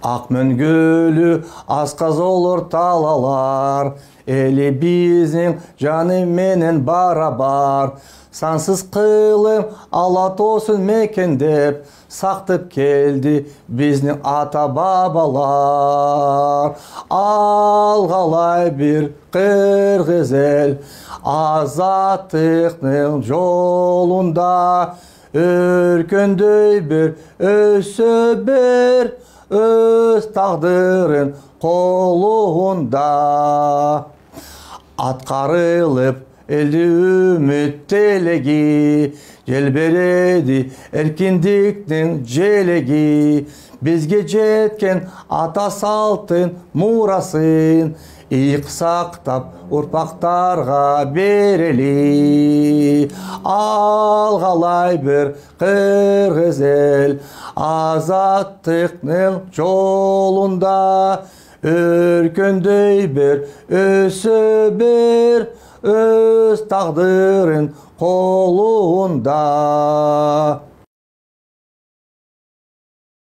Ак мөңгөлүү асказолор талалар, эли биздин жаны менен барабар. Сансыз кылым ала тоосун мекендеп, сактып келди биздин ата бабалар. Алгалай бир кыргыз эл азаттыктын жолунда, өркөндөй бир өсө бер өз тагдырын колунда. Аткарылып элди үмүт телеги, желбереди эркиндиктин желеги. Бизге жеткен ата салттын мурасын ийик сактап урпактарга берели. Алгалай бир кыргыз эл азаттыктын жолунда, өркөндөй бер өсө бер өз тагдырын колунда.